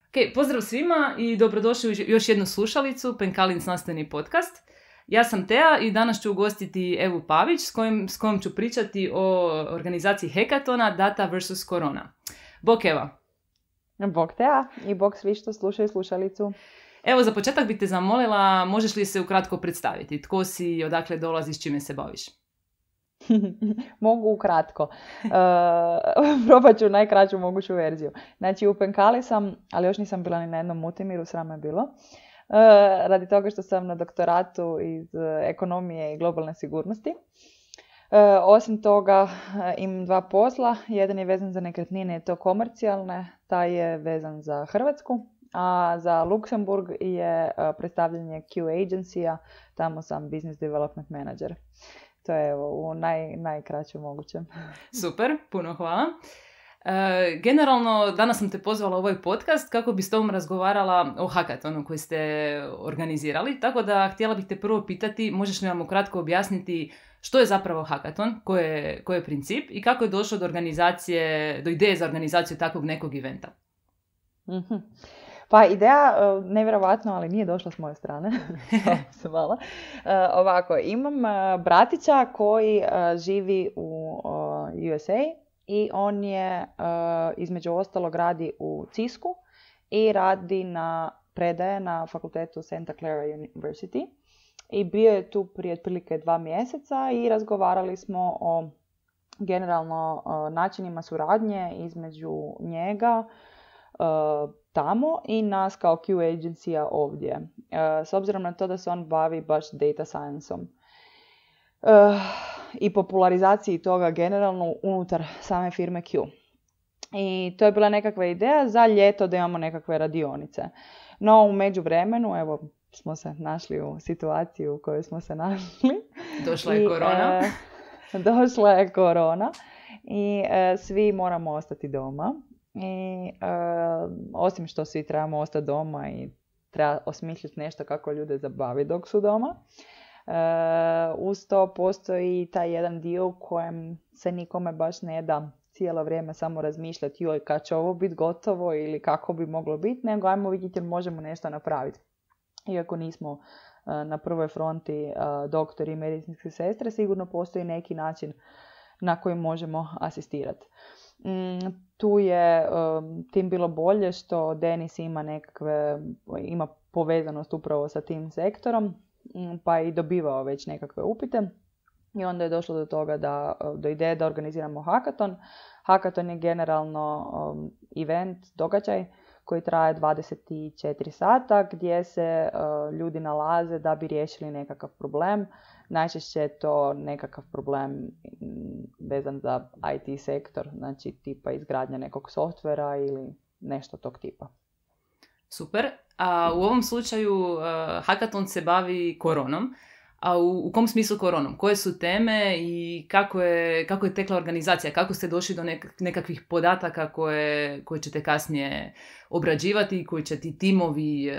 Ok, pozdrav svima i dobrodošli u još jednu slušalicu, Penkalin znanstveni podcast. Ja sam Tea i danas ću ugostiti Evu Pavić s kojom ću pričati o organizaciji Hekatona Data vs. Korona. Bok Eva. Bok Tea i bok svi što slušaju slušalicu. Evo, za početak bih te zamolila, možeš li se ukratko predstaviti? Tko si, odakle dolaziš, čime se baviš? Mogu ukratko. Probat ću najkraću moguću verziju. Znači, u Penkali sam, ali još nisam bila ni na jednom Multimiru, sram je bilo. Radi toga što sam na doktoratu iz ekonomije i globalne sigurnosti. Osim toga, imam dva posla. Jedan je vezan za nekretnine i to komercijalne, taj je vezan za Hrvatsku. A za Luksemburg je predstavljanje Q agencija, tamo sam business development manager. To je u najkraćem mogućem. Super, puno hvala. Generalno, danas sam te pozvala u ovaj podcast kako bi s tobom razgovarala o Hakatonu koji ste organizirali, tako da htjela bih te prvo pitati, možeš li nam ukratko objasniti što je zapravo Hakaton, koji je princip i kako je došlo do ideje za organizaciju takvog nekog eventa? Mm-hmm. Pa ideja, nevjerovatno, ali nije došla s moje strane. Ovako, imam bratića koji živi u USA i on je između ostalog radi u Cisku i predaje na fakultetu Santa Clara University. I bio je tu prije otprilike 2 mjeseca i razgovarali smo o generalno načinima suradnje između njega tamo i nas kao Q agencija ovdje. S obzirom na to da se on bavi baš data science-om i popularizaciji toga generalno unutar same firme Q. I to je bila nekakva ideja za ljeto da imamo nekakve radionice. No u međuvremenu, evo, smo se našli u situaciju u kojoj smo se našli. Došla je korona. Došla je korona i svi moramo ostati doma. I osim što svi trebamo ostati doma i treba osmisliti nešto kako ljude zabavi dok su doma, uz to postoji taj jedan dio u kojem se nikome baš ne da cijelo vrijeme samo razmišljati joj kad će ovo biti gotovo ili kako bi moglo biti, nego ajmo vidjeti možemo nešto napraviti. Iako nismo na prvoj fronti doktori i medicinske sestre, sigurno postoji neki način na koji možemo asistirati. Tu je tim bilo bolje što Denis ima povezanost upravo sa tim sektorom, pa je i dobivao već nekakve upite. I onda je došlo do toga do ideje da organiziramo Hakaton. Hakaton je generalno event, događaj koji traje 24 sata gdje se ljudi nalaze da bi riješili nekakav problem. Najčešće je to nekakav problem vezan za IT sektor, znači tipa izgradnja nekog softvera ili nešto tog tipa. Super. A u ovom slučaju Hakaton se bavi koronom. A u kom smislu koronom? Koje su teme i kako je tekla organizacija? Kako ste došli do nekakvih podataka koje ćete kasnije obrađivati, koji će ti timovi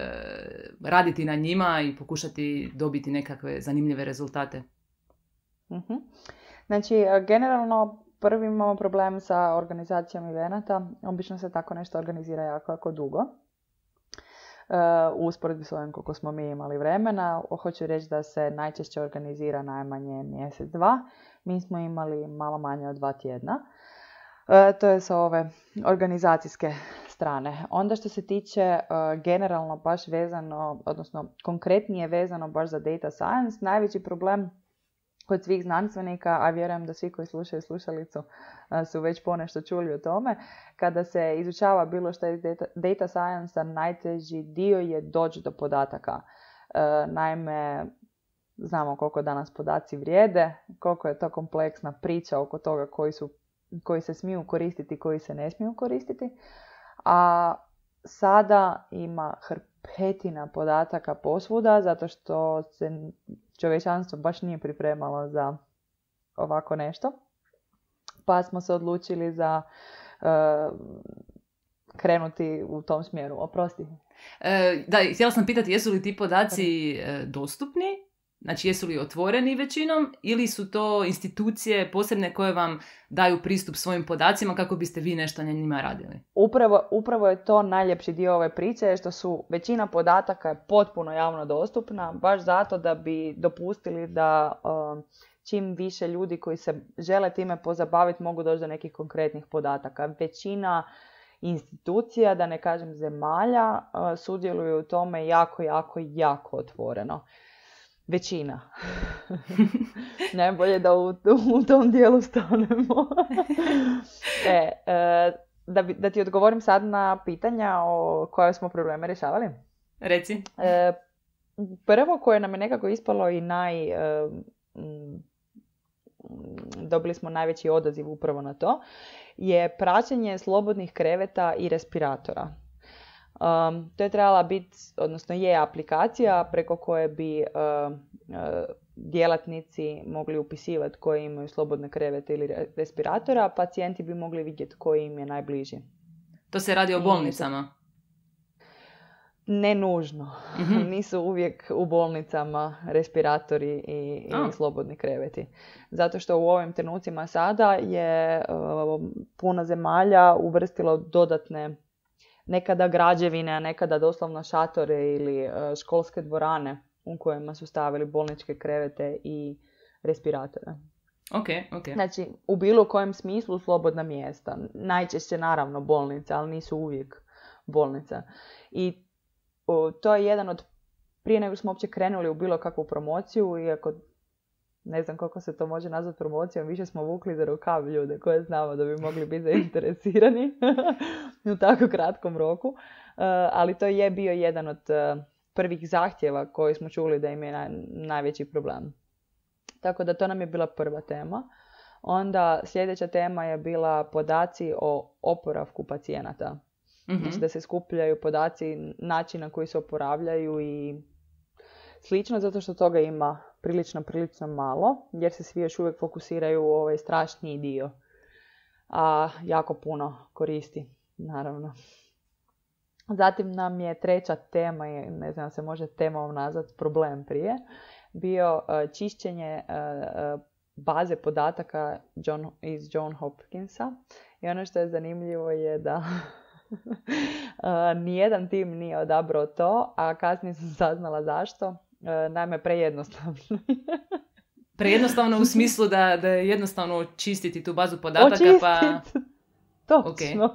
raditi na njima i pokušati dobiti nekakve zanimljive rezultate? Mm-hmm. Znači, generalno prvi imamo problem sa organizacijom evenata. Obično se tako nešto organizira jako dugo. U usporedbi s ovim koliko smo mi imali vremena, hoću reći da se najčešće organizira najmanje mjesec, 2. Mi smo imali malo manje od 2 tjedna. To je sa ove organizacijske strane. Onda što se tiče generalno baš vezano, odnosno konkretnije vezano baš za data science, najveći problem kod svih znanstvenika, a vjerujem da svi koji slušaju slušalicu su već ponešto čuli o tome, kada se izučava bilo što iz data science, najteži dio je doći do podataka. Naime, znamo koliko danas podaci vrijede, koliko je to kompleksna priča oko toga koji se smiju koristiti, koji se ne smiju koristiti. A sada ima hrpetina podataka posvuda, zato što se čovječanstvo baš nije pripremalo za ovako nešto. Pa smo se odlučili za krenuti u tom smjeru. Oprosti. Da, htjela sam pitati, jesu li ti podaci dostupni Znači, jesu li otvoreni većinom ili su to institucije posebne koje vam daju pristup svojim podacima kako biste vi nešto na njima radili? Upravo je to najljepši dio ove priče, što su većina podataka je potpuno javno dostupna, baš zato da bi dopustili da čim više ljudi koji se žele time pozabaviti mogu doći do nekih konkretnih podataka. Većina institucija, da ne kažem zemalja, sudjeluju u tome jako otvoreno. Većina. Najbolje da u tom dijelu stanemo. Da ti odgovorim sad na pitanja o koje smo probleme rješavali. Reci. Prvo koje nam je nekako ispalo i dobili smo najveći odaziv upravo na to, je praćenje slobodnih kreveta i respiratora. To je trebala biti, odnosno je aplikacija preko koje bi djelatnici mogli upisivati koji imaju slobodne krevete ili respiratora, a pacijenti bi mogli vidjeti koji im je najbliži. To se radi o bolnicama? Ne nužno. Mm-hmm. Nisu uvijek u bolnicama respiratori i slobodni kreveti. Zato što u ovim trenucima sada je puno zemalja uvrstilo dodatne nekada građevine, a nekada doslovno šatore ili školske dvorane u kojima su stavili bolničke krevete i respiratore. Okay. Znači, u bilo kojem smislu slobodna mjesta. Najčešće naravno bolnice, ali nisu uvijek bolnice. I to je jedan od, prije nego smo uopće krenuli u bilo kakvu promociju, iako ne znam koliko se to može nazvati promocijom, više smo vukli za rukav ljude koje znamo da bi mogli biti zainteresirani u tako kratkom roku. Ali to je bio jedan od prvih zahtjeva koji smo čuli da im je najveći problem. Tako da to nam je bila prva tema. Onda sljedeća tema je bila podaci o oporavku pacijenata. Mm-hmm. Znači da se skupljaju podaci, način na koji se oporavljaju i slično, zato što toga ima prilično malo, jer se svi još uvijek fokusiraju u ovaj strašniji dio. A jako puno koristi, naravno. Zatim nam je treća tema, ne znam se može temom nazvati, problem prije, bio čišćenje baze podataka iz John Hopkinsa. I ono što je zanimljivo je da nijedan tim nije odabrao to, a kasnije sam saznala zašto. Naime, prejednostavno. Prejednostavno u smislu da je jednostavno očistiti tu bazu podataka. Točno. Okay.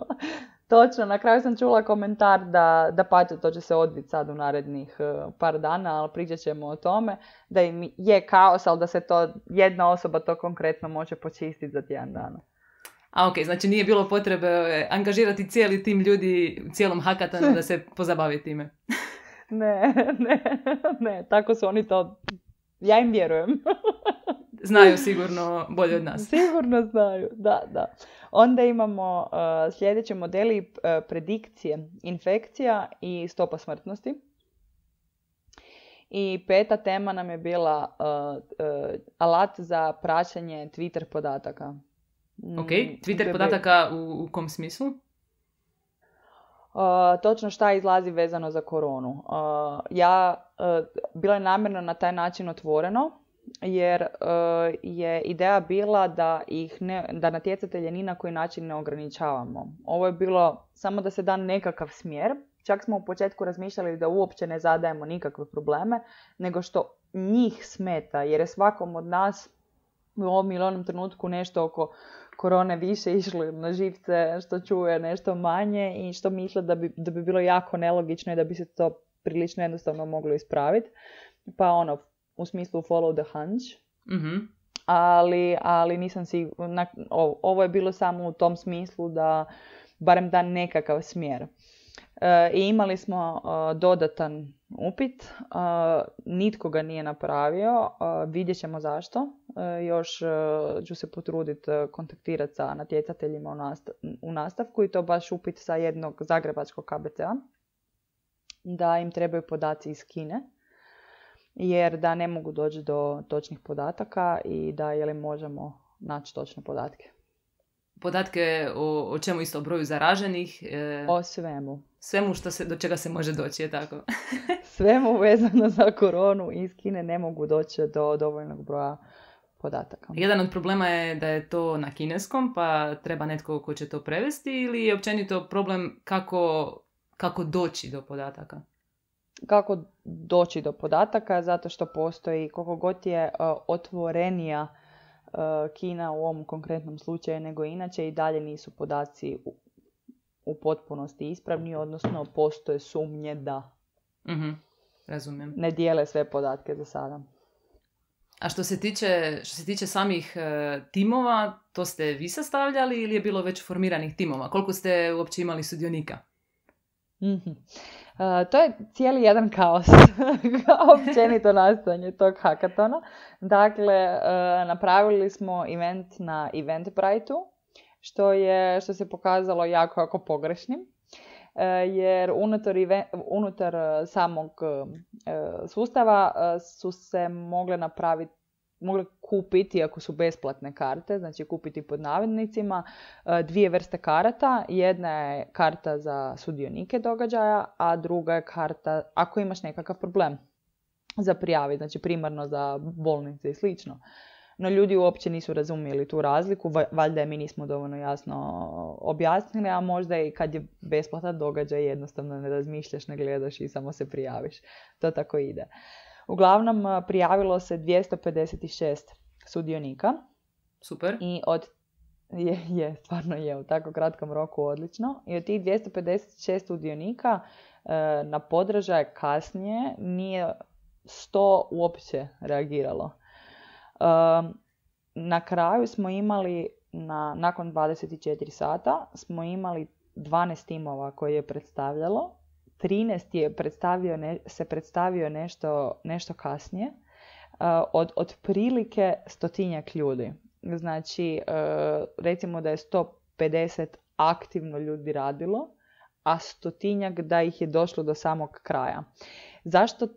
Točno, na kraju sam čula komentar da pače, to će se odviti sad u narednih par dana, ali pričat ćemo o tome, da im je kaos, ali da se to, jedna osoba to konkretno može počistiti za tjedan dana. Ok, znači nije bilo potrebe angažirati cijeli tim ljudi u cijelom hakatonu da se pozabavi time. Ne, tako su oni to, ja im vjerujem. Znaju sigurno bolje od nas. Sigurno znaju, da. Onda imamo sljedeći modeli predikcije infekcija i stopa smrtnosti. I peta tema nam je bila alat za praćenje Twitter podataka. Ok, Twitter podataka u kom smislu? Točno šta izlazi vezano za koronu. Bilo je namjerno na taj način otvoreno, jer je ideja bila da natjecatelje ni na koji način ne ograničavamo. Ovo je bilo samo da se da nekakav smjer. Čak smo u početku razmišljali da uopće ne zadajemo nikakve probleme, nego što njih smeta, jer je svakom od nas u ovom ili onom trenutku nešto oko korone više išlo na živce, što čuje nešto manje i što misle da bi bilo jako nelogično i da bi se to prilično jednostavno moglo ispraviti. Pa u smislu follow the hunch. Mm-hmm. Ali nisam sigurna. Ovo je bilo samo u tom smislu da barem da nekakav smjer. I imali smo dodatan upit. Nitko ga nije napravio. Vidjet ćemo zašto. Još ću se potruditi kontaktirati sa natjecateljima u nastavku i to baš upit sa jednog zagrebačkog KBC-a. Da im trebaju podaci iz Kine. Jer da ne mogu doći do točnih podataka i da je li možemo naći točne podatke. podatke o čemu isto, o broju zaraženih? O svemu. Svemu do čega se može doći, je tako? Svemu vezano za koronu iz Kine ne mogu doći do dovoljnog broja podataka. Jedan od problema je da je to na kineskom, pa treba netko ko će to prevesti, ili je općenito problem kako doći do podataka? Kako doći do podataka, zato što postoji, koliko god je otvorenija Kina u ovom konkretnom slučaju nego inače, i dalje nisu podaci u potpunosti ispravni, odnosno postoje sumnje da razumijem. Ne dijele sve podatke za sada. A što se tiče samih timova, to ste vi sastavljali ili je bilo već formiranih timova? Koliko ste uopće imali sudionika? To je cijeli jedan kaos, općenito nastojanje tog hakatona. Dakle, napravili smo event na Eventbrite-u, što se pokazalo jako pogrešnim, jer unutar samog sustava su se mogle kupiti, ako su besplatne karte, znači kupiti pod navodnicima, dvije vrste karata. Jedna je karta za sudionike događaja, a druga je karta ako imaš nekakav problem za prijaviti, znači primarno za bolnice i slično. No ljudi uopće nisu razumjeli tu razliku, valjda je mi nismo dovoljno jasno objasnili, a možda i kad je besplatan događaj jednostavno ne razmišljaš, ne gledaš i samo se prijaviš. To tako ide. Uglavnom, prijavilo se 256 sudionika. Super. I stvarno je u tako kratkom roku odlično. I od tih 256 sudionika na podražaj kasnije nije 100 uopće reagiralo. Na kraju smo imali, nakon 24 sata, smo imali 12 timova koje je predstavljalo. 13 je predstavio nešto kasnije, od otprilike 100 ljudi. Znači, recimo da je 150 aktivno ljudi radilo, a 100 da ih je došlo do samog kraja. Zašto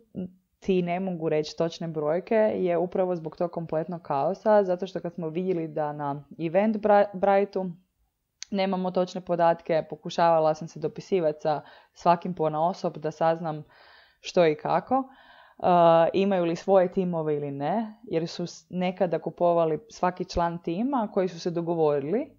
ti ne mogu reći točne brojke je upravo zbog tog kompletnog kaosa, zato što kad smo vidjeli da na Eventbrite-u nemamo točne podatke, pokušavala sam se dopisivati sa svakim ponaosob da saznam što i kako, imaju li svoje timove ili ne, jer su nekada kupovali svaki član tima koji su se dogovorili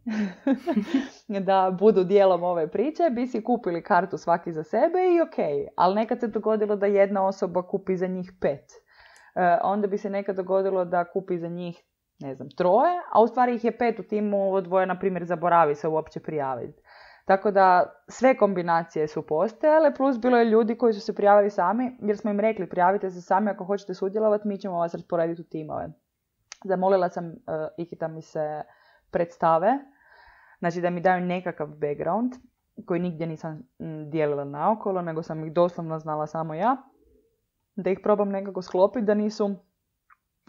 da budu dijelom ove priče, bi si kupili kartu svaki za sebe i ok, ali nekad se dogodilo da jedna osoba kupi za njih 5. Onda bi se nekad dogodilo da kupi za njih 3, a u stvari ih je 5 u timu, dvoje, na primjer, zaboravi se uopće prijaviti. Tako da sve kombinacije su postojale, plus bilo je ljudi koji su se prijavili sami, jer smo im rekli prijavite se sami ako hoćete sudjelovati, mi ćemo vas rasporediti u timove. Zamolila sam ih da mi se predstave, znači da mi daju nekakav background, koji nigdje nisam dijelila naokolo, nego sam ih doslovno znala samo ja, da ih probam nekako sklopiti, da nisu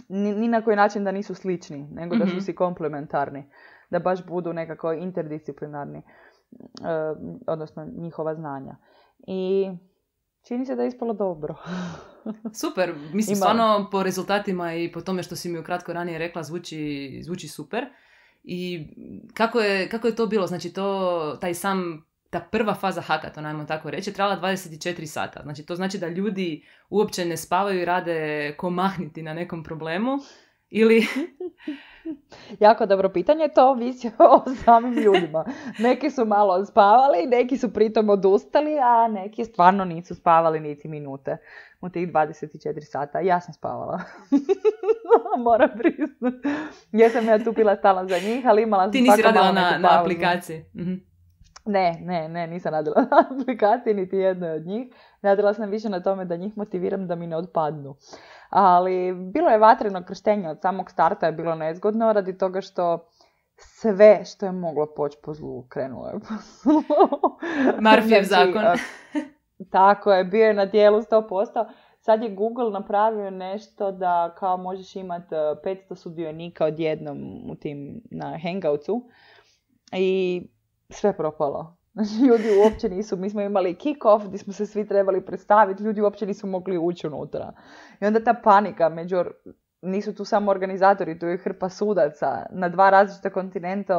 ni na koji način da nisu slični, nego da su si komplementarni, da baš budu nekako interdisciplinarni, odnosno njihova znanja. I čini se da je ispalo dobro. Super, mislim stvarno po rezultatima i po tome što si mi ukratko ranije rekla zvuči super. I kako je to bilo? Znači ta prva faza hakatona, ajmo tako reći, trajala 24 sata. Znači to znači da ljudi uopće ne spavaju i rade ko mahniti na nekom problemu ili... Jako dobro pitanje, to ovisi o samim ljudima. Neki su malo spavali, neki su pritom odustali, a neki stvarno nisu spavali niti minute u tih 24 sata. Ja sam spavala. Moram priznati. Jesam ja tu bila stala za njih, ali imala sam... Ti nisi radila na aplikaciji? Ne, nisam radila na aplikaciji niti jednoj od njih. Radila sam više na tome da njih motiviram da mi ne otpadnu. Ali bilo je vatreno krštenje od samog starta, je bilo nezgodno radi toga što sve što je moglo poći po zlu krenulo je po zlu. Murphyjev zakon. Tako je, bio je na dijelu 100%. Sad je Google napravio nešto da kao možeš imati 500 sudionika odjednom u tim na Hangoutsu i sve propalo. Ljudi uopće nisu, mi smo imali kick-off gdje smo se svi trebali predstaviti, ljudi uopće nisu mogli ući unutra. I onda ta panika među nisu tu samo organizatori, tu je hrpa sudaca na 2 različita kontinenta,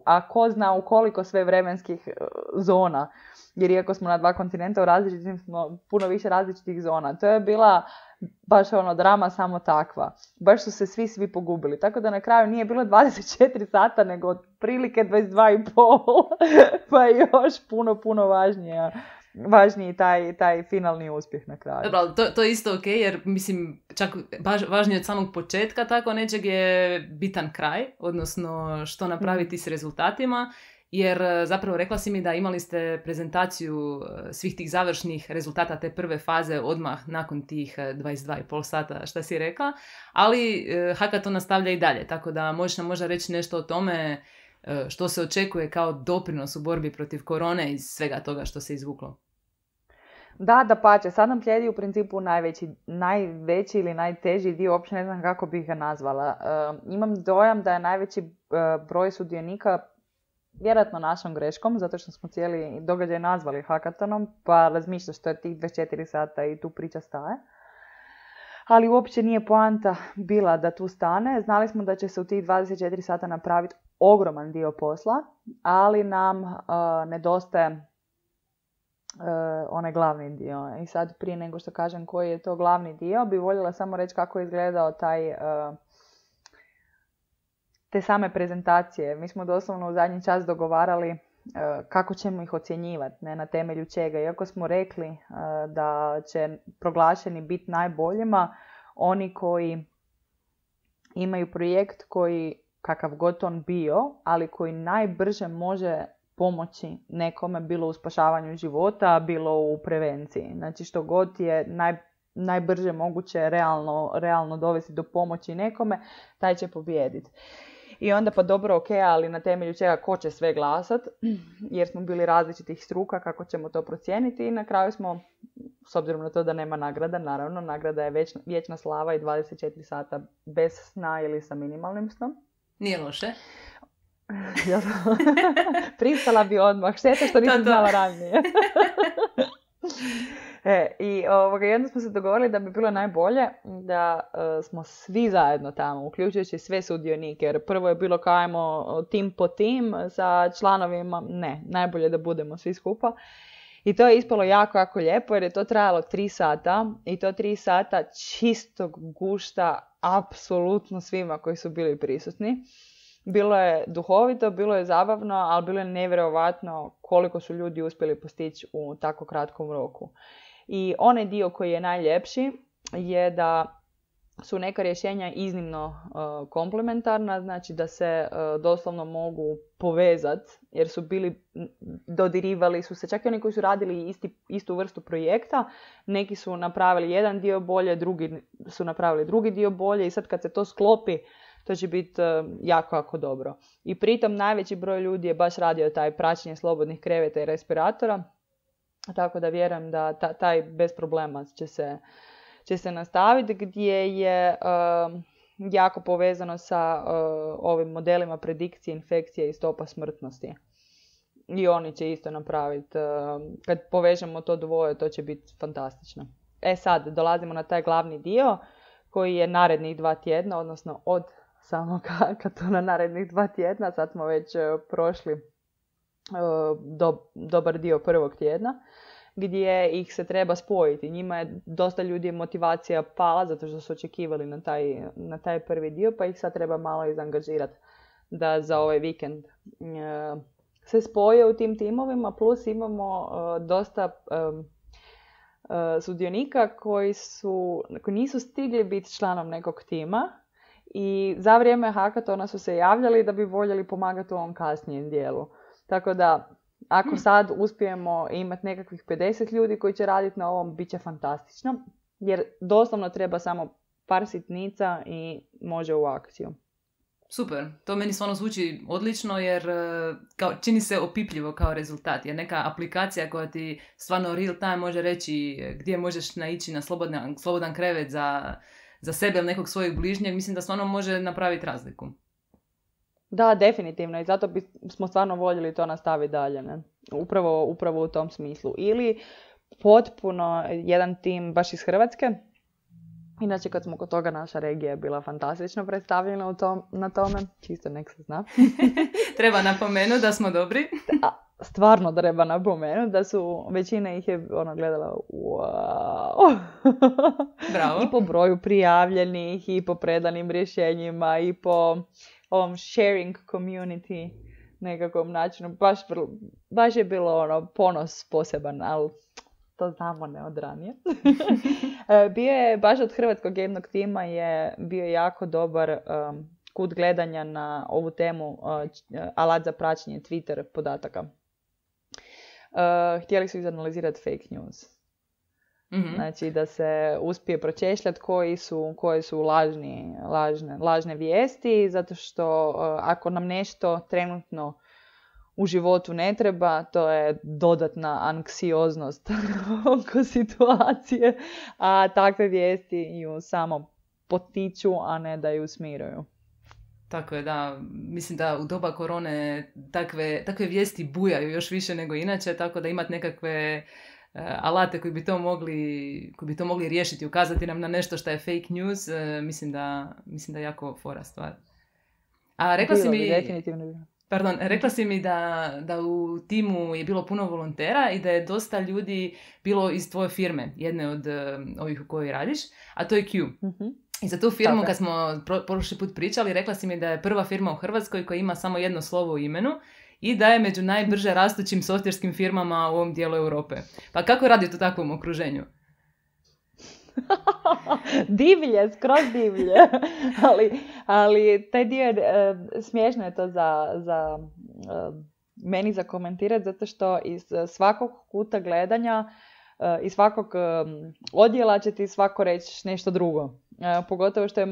a ko zna u koliko sve vremenskih zona. Jer iako smo na 2 kontinenta, u različitim smo puno više različitih zona. To je bila baš drama samo takva. Baš su se svi pogubili. Tako da na kraju nije bilo 24 sata, nego otprilike 22,5. Pa je još puno važniji taj finalni uspjeh na kraju. Dobro, to je isto ok, jer mislim, čak važnije od samog početka tako nečeg je bitan kraj, odnosno što napraviti s rezultatima, jer zapravo rekla si mi da imali ste prezentaciju svih tih završnih rezultata te prve faze odmah nakon tih 22,5 sata, šta si rekla, ali hackathon nastavlja i dalje, tako da možeš nam možda reći nešto o tome što se očekuje kao doprinos u borbi protiv korone i svega toga što se izvuklo. Dapače, sad nam slijedi u principu najveći ili najteži dio, uopće ne znam kako bih ga nazvala. Imam dojam da je najveći broj sudionika vjerojatno našom greškom, zato što smo cijeli događaj nazvali hackathonom, pa razmišljaš što je tih 24 sata i tu priča staje. Ali uopće nije poanta bila da tu stane. Znali smo da će se u tih 24 sata napraviti ogroman dio posla, ali nam nedostaje onaj glavni dio. I sad prije nego što kažem koji je to glavni dio, bi voljela samo reći kako je izgledao te same prezentacije. Mi smo doslovno u zadnji čas dogovarali kako ćemo ih ocjenjivati, ne na temelju čega. Iako smo rekli da će proglašeni biti najboljima oni koji imaju projekt koji, kakav god on bio, ali koji najbrže može pomoći nekome, bilo u spašavanju života, bilo u prevenciji. Znači što god je najbrže moguće realno dovesti do pomoći nekome, taj će pobijediti. I onda pa dobro, ok, ali na temelju čega ko će sve glasat, jer smo bili različitih struka, kako ćemo to procijeniti i na kraju smo, s obzirom na to da nema nagrada, naravno, nagrada je vječna slava i 24 sata bez sna ili sa minimalnim snom. Nije loše. Pristala bi odmah, šteta što nisam znala ranije. I jedno smo se dogovorili da bi bilo najbolje da smo svi zajedno tamo, uključujući sve sudionike, jer prvo je bilo kao ajmo tim po tim sa članovima, ne, najbolje da budemo svi skupa. I to je ispalo jako lijepo jer je to trajalo 3 sata i to 3 sata čistog gušta apsolutno svima koji su bili prisutni. Bilo je duhovito, bilo je zabavno, ali bilo je nevjerojatno koliko su ljudi uspjeli postići u tako kratkom roku. I onaj dio koji je najljepši je da su neka rješenja iznimno komplementarna, znači da se doslovno mogu povezati, jer su bili, dodirivali su se, čak i oni koji su radili istu vrstu projekta, neki su napravili jedan dio bolje, drugi su napravili drugi dio bolje i sad kad se to sklopi, to će biti jako dobro. I pritom najveći broj ljudi je baš radio taj praćenje slobodnih kreveta i respiratora, tako da vjerujem da taj bez problema će se nastaviti, gdje je jako povezano sa ovim modelima predikcije infekcije i stopa smrtnosti. I oni će isto napraviti. Kad povežemo to dvoje, to će biti fantastično. Sad, dolazimo na taj glavni dio koji je narednih 2 tjedna, odnosno od samog hackathona narednih 2 tjedna. Sad smo već prošli dobar dio prvog tjedna, gdje ih se treba spojiti. Njima je dosta ljudi motivacija pala zato što su očekivali na taj prvi dio, pa ih sad treba malo izangažirati da za ovaj vikend se spoje u tim timovima, plus imamo dosta sudionika koji nisu stigli biti članom nekog tima i za vrijeme hackathona su se javljali da bi voljeli pomagati u ovom kasnijem dijelu. Tako da ako sad uspijemo imati nekakvih 50 ljudi koji će raditi na ovom, bit će fantastično, jer doslovno treba samo par sitnica i može u akciju. Super, to meni stvarno zvuči odlično jer čini se opipljivo kao rezultat. Jer neka aplikacija koja ti stvarno real time može reći gdje možeš naići na slobodan krevet za sebe ili nekog svojeg bližnjeg, mislim da stvarno može napraviti razliku. Da, definitivno i zato smo stvarno voljeli to nastaviti dalje. Ne? Upravo u tom smislu. Ili potpuno jedan tim baš iz Hrvatske Inače, kad smo kod toga, naša regija je bila fantastično predstavljena na tome. Čisto nek se zna. Treba napomenuti da smo dobri. Stvarno treba napomenuti da su, većina ih je gledala wow. Bravo. I po broju prijavljenih, i po predanim rješenjima, i po ovom sharing community nekakvom načinu. Baš je bilo ponos poseban, ali to znamo ne od ranije. Bio je, baš od hrvatskog jednog tima je bio jako dobar kut gledanja na ovu temu, alat za praćenje Twitter podataka. Htjeli su izanalizirati fake news. Mm-hmm. Znači da se uspije pročešljati koje su lažne vijesti, zato što ako nam nešto trenutno u životu ne treba, to je dodatna anksioznost oko situacije, a takve vijesti ju samo potiču, a ne da ju smiruju. Tako je, da. Mislim da u doba korone takve vijesti bujaju još više nego inače, tako da imati nekakve alate koji bi to mogli riješiti, ukazati nam na nešto što je fake news, mislim da je jako fora stvar. A rekla si mi da u timu je bilo puno volontera i da je dosta ljudi bilo iz tvoje firme, jedne od ovih u kojoj radiš, a to je Q. Mm-hmm. I za tu firmu, kad smo prošli put pričali, rekla si mi da je prva firma u Hrvatskoj koja ima samo jedno slovo u imenu i da je među najbrže rastućim softverskim firmama u ovom dijelu Europe. Pa kako radite u takvom okruženju? Divlje, skroz divlje. ali taj dio, smiješno je to za meni za komentirati, zato što iz svakog kuta gledanja, iz svakog odjela će ti svako reći nešto drugo. Pogotovo što je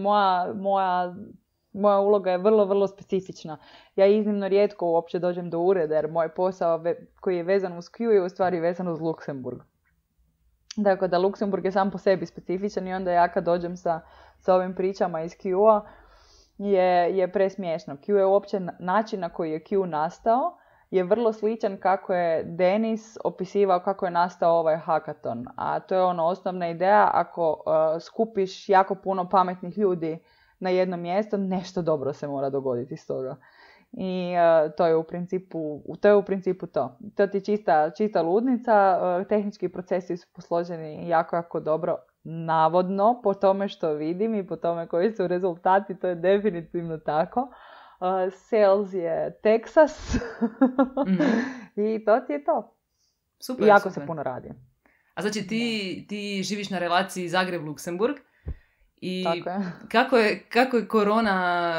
moja uloga je vrlo, vrlo specifična. Ja iznimno rijetko uopće dođem do ureda, jer moj posao koji je vezan uz Q je u stvari vezan uz Luksemburg. Dakle, da Luksemburg je sam po sebi specifičan i onda ja kad dođem sa ovim pričama iz Q-a je presmiješno. Q je uopće način na koji je Q nastao je vrlo sličan kako je Denis opisivao kako je nastao ovaj hackathon. A to je osnovna ideja, ako skupiš jako puno pametnih ljudi na jedno mjesto, nešto dobro se mora dogoditi iz toga. I to je u principu to. To ti čista ludnica, tehnički procesi su posloženi jako, jako dobro, navodno, po tome što vidim i po tome koji su rezultati, to je definitivno tako. Sales je Texas i to ti je to. Super, i jako se puno radi. A znači ti živiš na relaciji Zagreb-Luksemburg i kako je korona,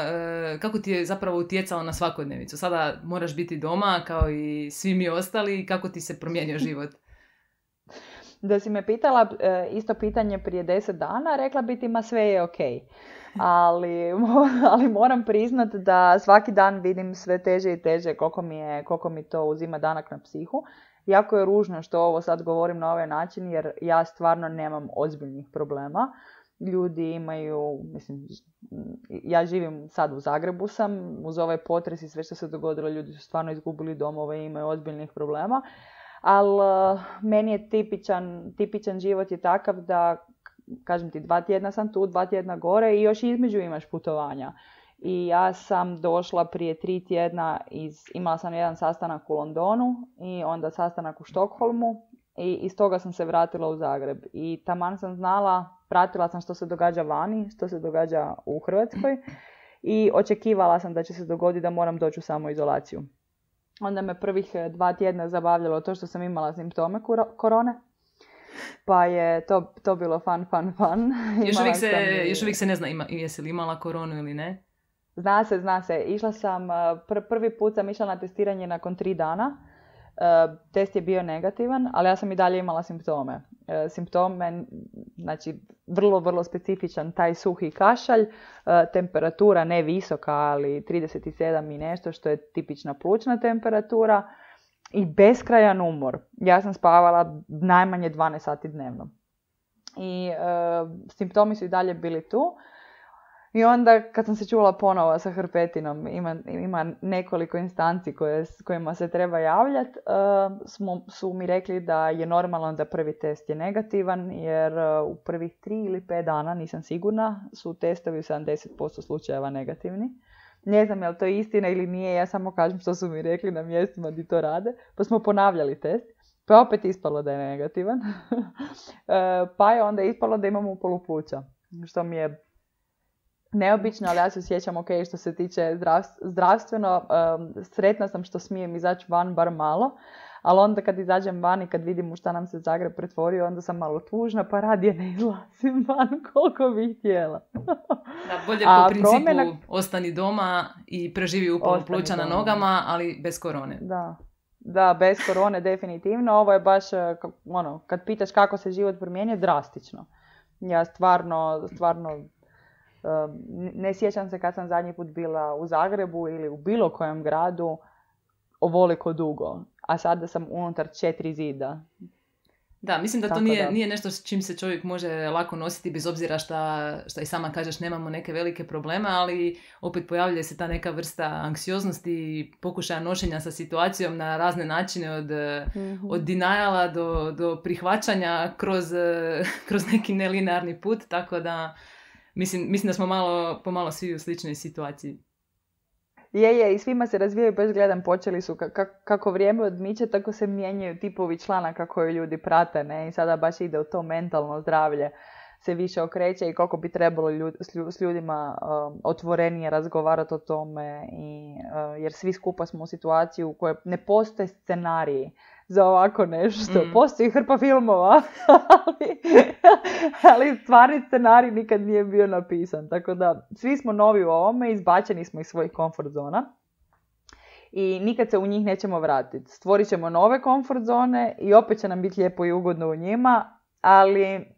kako ti je zapravo utjecala na svakodnevicu? Sada moraš biti doma kao i svi mi ostali, kako ti se promijenio život? Da si me pitala isto pitanje prije 10 dana, rekla bi ti ma sve je okej. Ali moram priznat da svaki dan vidim sve teže i teže koliko mi to uzima danak na psihu. Jako je ružno što ovo sad govorim na ovaj način, jer ja stvarno nemam ozbiljnih problema. Ljudi imaju, ja živim sad u Zagrebu sam, uz ovaj potres i sve što se dogodilo, ljudi su stvarno izgubili domove i imaju ozbiljnih problema. Ali meni je tipičan život je takav da, kažem ti, 2 tjedna sam tu, 2 tjedna gore i još između imaš putovanja. I ja sam došla prije 3 tjedna, imala sam jedan sastanak u Londonu i onda sastanak u Štokholmu i iz toga sam se vratila u Zagreb. I taman sam znala, pratila sam što se događa vani, što se događa u Hrvatskoj i očekivala sam da će se dogoditi da moram doći u samoizolaciju. Onda me prvih 2 tjedna zabavljalo to što sam imala simptome korone. Pa je to bilo fun. Još uvijek se ne zna jesi li imala koronu ili ne? Zna se. Išla sam, prvi put sam išla na testiranje nakon 3 dana. Test je bio negativan, ali ja sam i dalje imala simptome. Simptome, znači vrlo, vrlo specifičan taj suhi kašalj, temperatura ne visoka, ali 37 i nešto, što je tipična plućna temperatura i beskrajan umor. Ja sam spavala najmanje 12 sati dnevno. I simptomi su i dalje bili tu. I onda kad sam se čula ponovo sa hrpetinom, ima nekoliko instanci kojima se treba javljati, su mi rekli da je normalno da prvi test je negativan, jer u prvih 3 ili 5 dana, nisam sigurna, su testovi u 70% slučajeva negativni. Ne znam je li to istina ili nije, ja samo kažem što su mi rekli na mjestima gdje to rade. Pa smo ponavljali test, pa opet ispalo da je negativan. Pa je onda ispalo da imamo upolu pluća, što mi je neobično, ali ja se sjećam ok, što se tiče zdravstveno, sretna sam što smijem izaći van bar malo, ali onda kad izađem van i kad vidim u šta nam se Zagreb pretvorio, onda sam malo tužna, pa radije ne izlazim van koliko bih htjela. Da, bolje po principu ostani doma i preživi upalu pluća na nogama, ali bez korone. Da, bez korone definitivno. Ovo je baš, kad pitaš kako se život promijenio, drastično. Ja stvarno ne sjećam se kad sam zadnji put bila u Zagrebu ili u bilo kojem gradu ovoliko dugo, a sada sam unutar 4 zida. Da, mislim da to nije nešto s čim se čovjek može lako nositi, bez obzira šta i sama kažeš, nemamo neke velike probleme, ali opet pojavljuje se ta neka vrsta anksioznosti i pokušaja nošenja sa situacijom na razne načine, od deniala do prihvaćanja kroz neki nelinearni put, tako da mislim da smo pomalo svi u sličnoj situaciji. Je, i svima se razvijaju, baš gledam, počeli su kako vrijeme odmiče, tako se mijenjaju tipovi članaka koje ljudi prate, ne? I sada baš ide u to mentalno zdravlje, se više okreće i koliko bi trebalo s ljudima otvorenije razgovarati o tome, jer svi skupa smo u situaciji u kojoj ne postoje scenariji za ovako nešto. Postoji hrpa filmova, ali stvarni scenarij nikad nije bio napisan. Tako da svi smo novi u ovome, izbačeni smo iz svojih comfort zona i nikad se u njih nećemo vratiti. Stvorit ćemo nove comfort zone i opet će nam biti lijepo i ugodno u njima, ali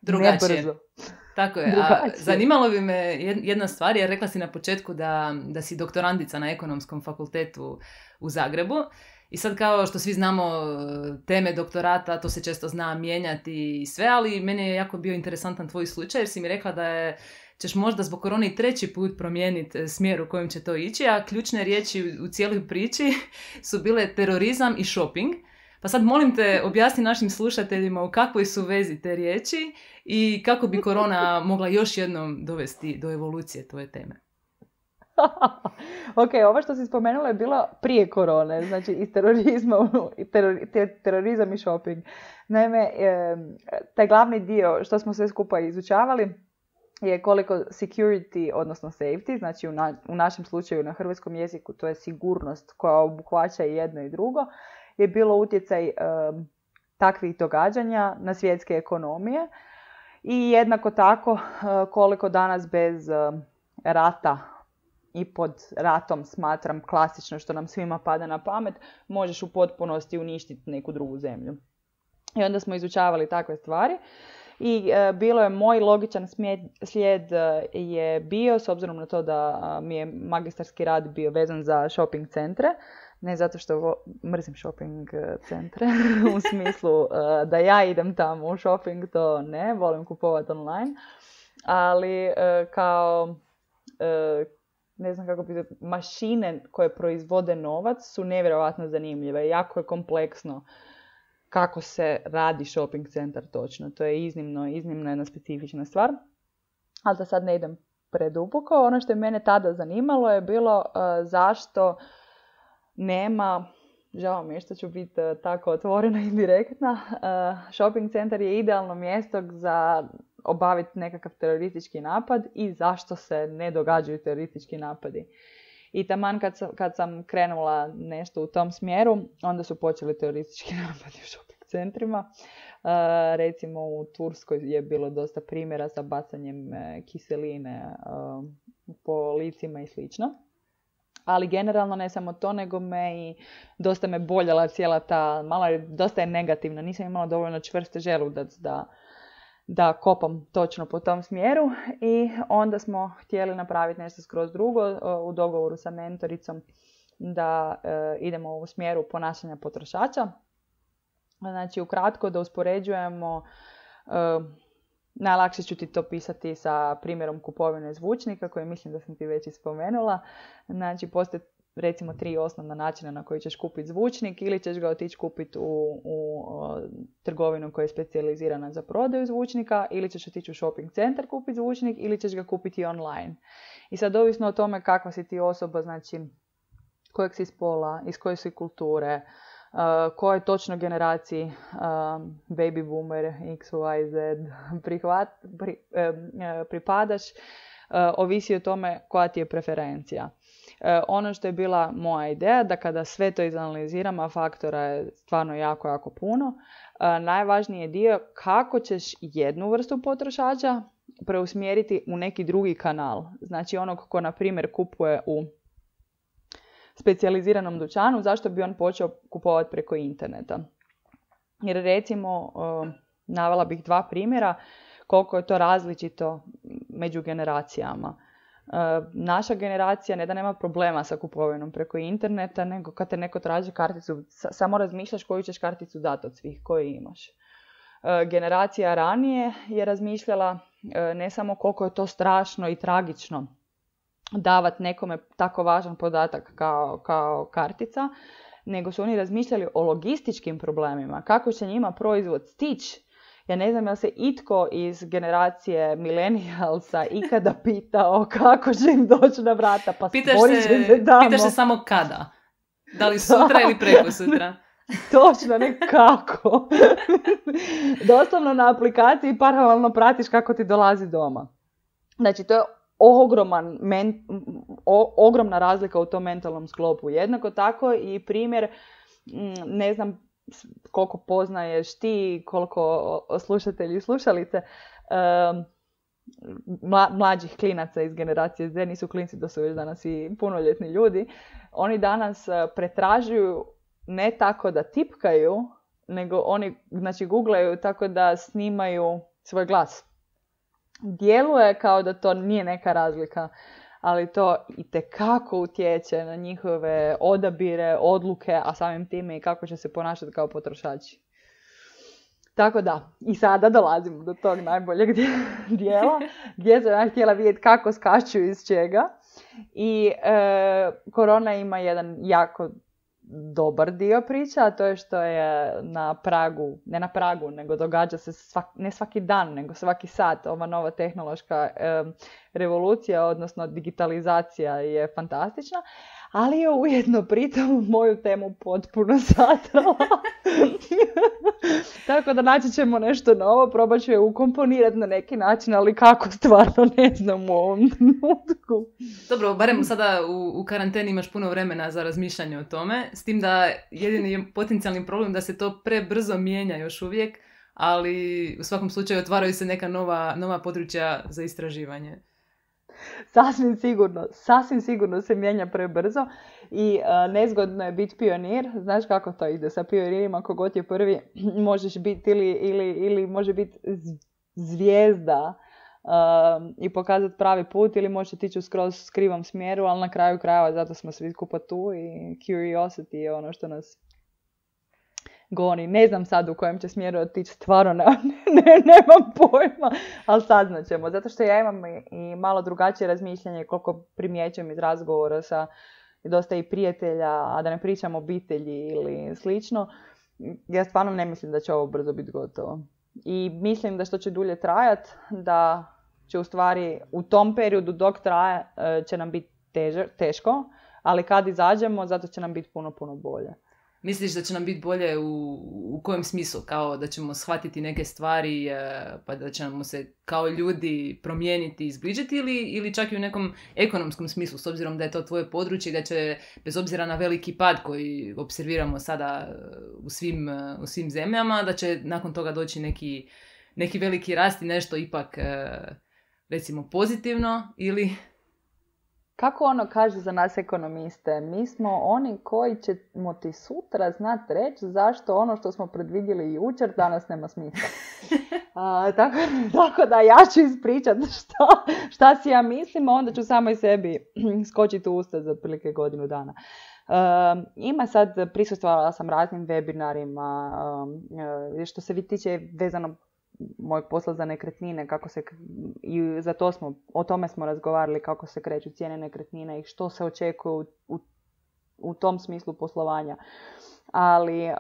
drugačije. Ne brzo. Tako je. A zanimalo bi me jedna stvar, jer rekla si na početku da si doktorandica na Ekonomskom fakultetu u Zagrebu. I sad, kao što svi znamo, teme doktorata, to se često zna mijenjati i sve, ali meni je jako bio interesantan tvoj slučaj, jer si mi rekla da ćeš možda zbog korone i 3. put promijeniti smjer u kojem će to ići, a ključne riječi u cijeloj priči su bile terorizam i shopping. Pa sad molim te, objasni našim slušateljima u kakvoj su vezi te riječi i kako bi korona mogla još jednom dovesti do evolucije tvoje teme. Ok, ovo što si spomenula je bilo prije korone, znači iz terorizma, terorizam i shopping. Naime, taj glavni dio što smo sve skupa izučavali je koliko security, odnosno safety, znači u našem slučaju na hrvatskom jeziku to je sigurnost koja obuhvaća i jedno i drugo, je bilo utjecaj takvih događanja na svjetske ekonomije i jednako tako koliko danas bez rata i pod ratom smatram klasično što nam svima pada na pamet, možeš u potpunosti uništiti neku drugu zemlju. I onda smo izučavali takve stvari i bilo je moj logičan slijed je bio, s obzirom na to da mi je magistarski rad bio vezan za shopping centre, ne zato što mrzim shopping centre, u smislu da ja idem tamo u shopping, to ne, volim kupovati online, ali kao ne znam kako bi mašine koje proizvode novac su nevjerojatno zanimljive. Jako je kompleksno kako se radi shopping centar točno. To je iznimno jedna specifična stvar. Ali da sad ne idem preduboko. Ono što je mene tada zanimalo je bilo zašto nema, žao mi je što ću biti tako otvorena i direktna, shopping centar je idealno mjesto za obaviti nekakav teroristički napad i zašto se ne događaju teroristički napadi. I taman kad sam krenula nešto u tom smjeru, onda su počeli teroristički napadi u shopping centrima. Recimo u Turskoj je bilo dosta primjera sa bacanjem kiseline po licima i slično. Ali generalno ne samo to, nego dosta me boljela cijela ta, dosta je negativna, nisam imala dovoljno čvrste želudac da kopam točno po tom smjeru i onda smo htjeli napraviti nešto skroz drugo u dogovoru sa mentoricom da idemo u smjeru ponašanja potrošača. Znači ukratko da uspoređujemo Najlakše ću ti to pisati sa primjerom kupovine zvučnika, koji mislim da sam ti već i spomenula. Znači, postoje recimo 3 osnovna načina na koji ćeš kupiti zvučnik, ili ćeš ga otići kupiti u trgovinu koja je specijalizirana za prodaju zvučnika, ili ćeš otići u shopping centar kupiti zvučnik, ili ćeš ga kupiti online. I sad ovisno o tome kakva si ti osoba, znači kojeg si spola, iz koje si kulture, koje točno generaciji baby boomer, x, y, z pripadaš, ovisi o tome koja ti je preferencija. Ono što je bila moja ideja, da kada sve to izanaliziram, a faktora je stvarno jako, jako puno, najvažniji je dio kako ćeš jednu vrstu potrošača preusmjeriti u neki drugi kanal. Znači onog ko, na primjer, kupuje u specijaliziranom dućanu, zašto bi on počeo kupovati preko interneta? Jer recimo, navela bih 2 primjera koliko je to različito među generacijama. Naša generacija ne da nema problema sa kupovinom preko interneta, nego kad te neko traži karticu, samo razmišljaš koju ćeš karticu dati od svih koje imaš. Generacija ranije je razmišljala ne samo koliko je to strašno i tragično davati nekome tako važan podatak kao kartica, nego su oni razmišljali o logističkim problemima, kako će njima proizvod stići. Ja ne znam, jel se itko iz generacije millennialsa ikada pitao kako će im doći na vrata, pa pitaš se samo kada. Da li sutra ili preko sutra? Točno, ne kako. Doslovno na aplikaciji paralelno pratiš kako ti dolazi doma. Znači, to je ogromna razlika u tom mentalnom sklopu. Jednako tako i primjer, ne znam koliko poznaješ ti, koliko slušatelji i slušalice, mlađih klinaca iz generacije Z, nisu klinci, da su već danas i punoljetni ljudi, oni danas pretražuju ne tako da tipkaju, nego oni, znači, googlaju tako da snimaju svoj glas. Djeluje kao da to nije neka razlika, ali to itekako utječe na njihove odabire, odluke, a samim time i kako će se ponašati kao potrošači. Tako da, i sada dolazimo do tog najboljeg dijela, gdje sam ja htjela vidjeti kako skaču iz čega. I korona ima jedan jako dobar dio priča, a to je što je na pragu, ne na pragu, nego događa se ne svaki dan, nego svaki sat. Ova nova tehnološka revolucija, odnosno digitalizacija je fantastična, ali je ujedno pritom moju temu potpuno satrala. Tako da naći ćemo nešto novo, probat ću je ukomponirati na neki način, ali kako, stvarno ne znam u ovom trenutku. Dobro, barem sada u karanteni imaš puno vremena za razmišljanje o tome, s tim da jedini je potencijalni problem da se to prebrzo mijenja još uvijek, ali u svakom slučaju otvaraju se neka nova područja za istraživanje. Sasvim sigurno se mijenja prebrzo i nezgodno je biti pionir. Znaš kako to ide sa pionirima, kogod je prvi možeš biti ili može biti zvijezda i pokazati pravi put, ili možeš otići u skroz krivom smjeru, ali na kraju krajeva zato smo svi skupa tu i curiosity je ono što nas goni. Ne znam sad u kojem će smjeru otići, stvarno nemam pojma, ali saznat ćemo. Zato što ja imam i malo drugačije razmišljanje, koliko primjećujem iz razgovora sa dosta i prijatelja, a da ne pričam o obitelji ili slično. Ja stvarno ne mislim da će ovo brzo biti gotovo. I mislim da što će dulje trajati, da će u stvari u tom periodu dok traje će nam biti teško, ali kad izađemo, zato će nam biti puno, puno bolje. Misliš da će nam biti bolje u kojem smislu? Kao da ćemo shvatiti neke stvari, pa da ćemo se kao ljudi promijeniti i izbližiti, ili čak i u nekom ekonomskom smislu, s obzirom da je to tvoje područje, da će, bez obzira na veliki pad koji observiramo sada u svim zemljama, da će nakon toga doći neki veliki rast i nešto ipak, recimo, pozitivno, ili... Kako ono kaže za nas ekonomiste, mi smo oni koji ćemo ti sutra znati reći zašto ono što smo predvidjeli jučer danas nema smisla. Tako da ja ću ispričati šta si ja mislim, a onda ću samo i sebi skočiti u usta za otprilike godinu dana. Ima sad, prisustvovala sam raznim webinarima, što se tiče vezano mojeg posla za nekretnine, i o tome smo razgovarali, kako se kreću cijene nekretnina i što se očekuje u tom smislu poslovanja. Ali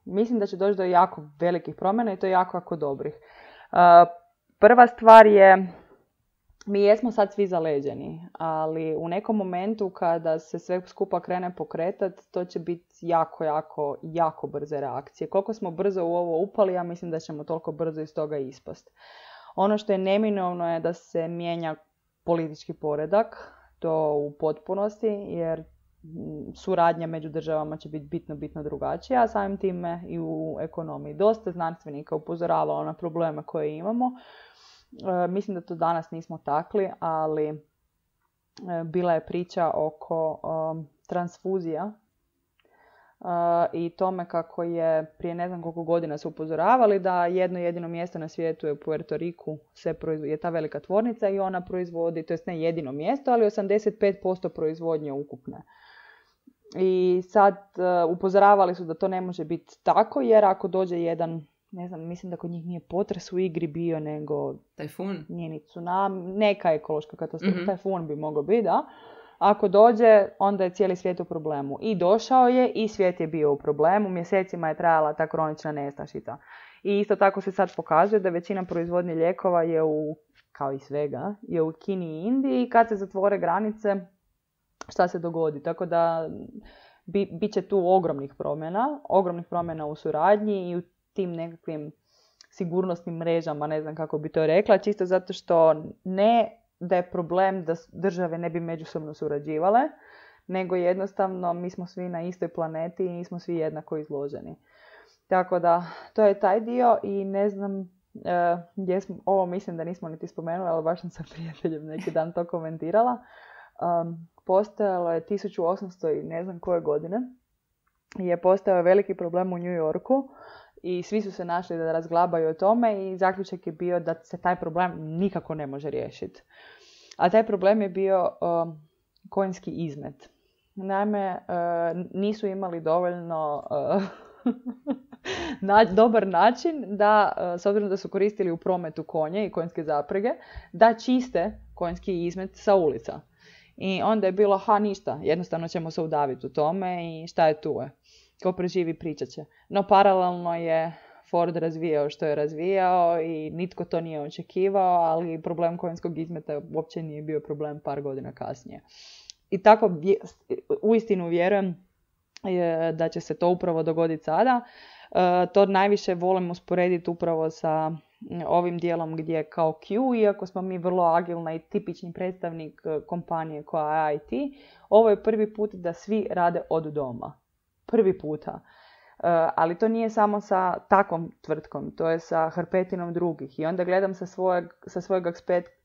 mislim da će doći do jako velikih promjena i to jako dobrih. Prva stvar je, mi jesmo sad svi zaleđeni, ali u nekom momentu kada se sve skupa krene pokretati, to će biti jako brze reakcije. Koliko smo brzo u ovo upali, ja mislim da ćemo toliko brzo iz toga ispast. Ono što je neminovno je da se mijenja politički poredak, to u potpunosti, jer suradnja među državama će biti bitno drugačija, a samim time i u ekonomiji. Dosta znanstvenika upozoravalo na probleme koje imamo. Mislim da to danas nismo takli, ali bila je priča oko transfuzija i tome kako je prije ne znam koliko godina su upozoravali da jedno jedino mjesto na svijetu je u Puerto Riku, je ta velika tvornica i ona proizvodi, to jest ne jedino mjesto, ali 85% proizvodnje ukupne. I sad upozoravali su da to ne može biti tako, jer ako dođe jedan, ne znam, mislim da kod njih nije potres u igri bio, nego tajfun, nije ni tsunami, neka ekološka katastrofa, tajfun bi mogao biti, da. Ako dođe, onda je cijeli svijet u problemu. I došao je i svijet je bio u problemu, mjesecima je trajala ta kronična nestašica. I isto tako se sad pokazuje da većina proizvodnje lijekova je kao i svega, je u Kini i Indiji, i kad se zatvore granice, šta se dogodi. Tako da bit će tu ogromnih promjena u suradnji i u tim nekakvim sigurnosnim mrežama, ne znam kako bi to rekla, čisto zato što ne da je problem da države ne bi međusobno surađivale, nego jednostavno mi smo svi na istoj planeti i nismo svi jednako izloženi. Tako da, to je taj dio i ne znam, ovo mislim da nismo niti spomenuli, ali baš sam sa prijateljem neki dan to komentirala. Postojalo je 1800 i ne znam koje godine, je postojao veliki problem u New Yorku i svi su se našli da razglabaju o tome i zaključak je bio da se taj problem nikako ne može riješiti. A taj problem je bio konjski izmet. Naime, nisu imali dovoljno dobar način da, s obzirom da su koristili u prometu konje i konjske zaprege, da čiste konjski izmet sa ulica. I onda je bilo, ništa, jednostavno ćemo se udaviti u tome i šta je tu je. Ko preživi pričat će. No paralelno je Ford razvijao što je razvijao i nitko to nije očekivao, ali problem konjskog izmeta uopće nije bio problem par godina kasnije. I tako uistinu vjerujem da će se to upravo dogoditi sada. To najviše volim usporediti upravo sa ovim dijelom gdje kao Q, iako smo mi vrlo agilna i tipični predstavnik kompanije koja je IT, ovo je prvi put da svi rade od doma. Prvi puta. Ali to nije samo sa takvom tvrtkom, to je sa hrpetinom drugih. I onda gledam sa svojeg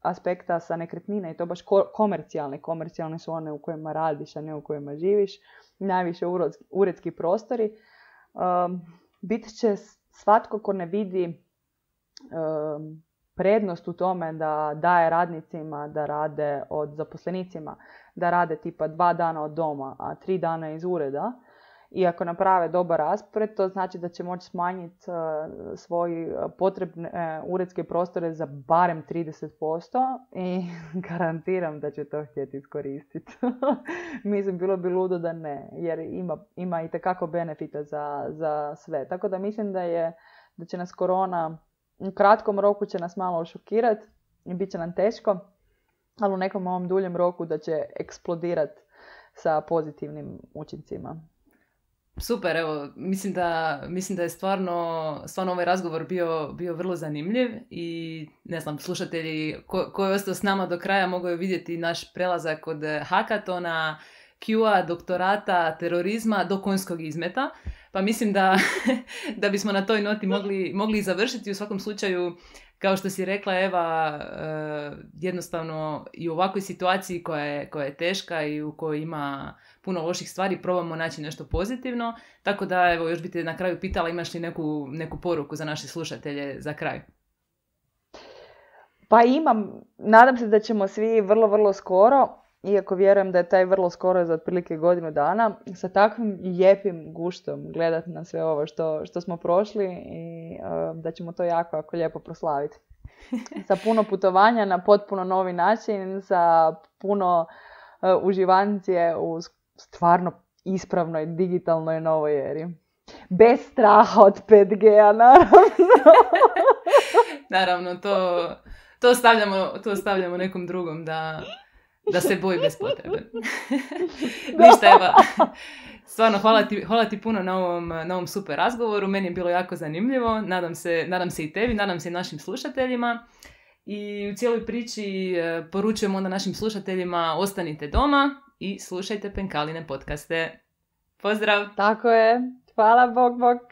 aspekta sa nekretnina i to baš komercijalne. Komercijalne su one u kojima radiš, a ne u kojima živiš. Najviše uredski prostori. Bit će svatko ko ne vidi prednost u tome da daje radnicima da rade od zaposlenicima, da rade tipa 2 dana od doma, a 3 dana iz ureda. I ako naprave dobar raspored, to znači da će moći smanjiti svoj potrebne uredske prostore za barem 30% i garantiram da će to htjeti iskoristiti. Mislim, bilo bi ludo da ne, jer ima itekako benefita za sve. Tako da mislim da će nas korona, u kratkom roku će nas malo šokirati i bit će nam teško, ali u nekom ovom duljem roku da će eksplodirati sa pozitivnim učincima. Super, evo, mislim da je stvarno ovaj razgovor bio vrlo zanimljiv i ne znam, slušatelji koji je ostao s nama do kraja mogu vidjeti naš prelazak od hakatona, Q-a, doktorata, terorizma do konjskog izmeta. Pa mislim da bismo na toj noti mogli završiti. U svakom slučaju, kao što si rekla Eva, jednostavno i u ovakvoj situaciji koja je teška i u kojoj ima puno loših stvari, probamo naći nešto pozitivno. Tako da, evo, još bi te na kraju pitala, imaš li neku poruku za naše slušatelje za kraj? Pa imam. Nadam se da ćemo svi vrlo, vrlo skoro iako vjerujem da je taj vrlo skoro za otprilike godinu dana, sa takvim lijepim guštom gledati na sve ovo što smo prošli i da ćemo to jako, jako lijepo proslaviti. Sa puno putovanja na potpuno novi način, sa puno uživancije u stvarno ispravnoj, digitalnoj novoj eri. Bez straha od 5G-a, naravno. Naravno, to ostavljamo nekom drugom da se boji bez potrebe. Ništa, Eva. Stvarno, hvala ti puno na ovom super razgovoru. Meni je bilo jako zanimljivo. Nadam se i tebi, nadam se i našim slušateljima. I u cijeloj priči poručujemo onda našim slušateljima ostanite doma i slušajte Penkaline podcaste. Pozdrav! Tako je. Hvala, bok.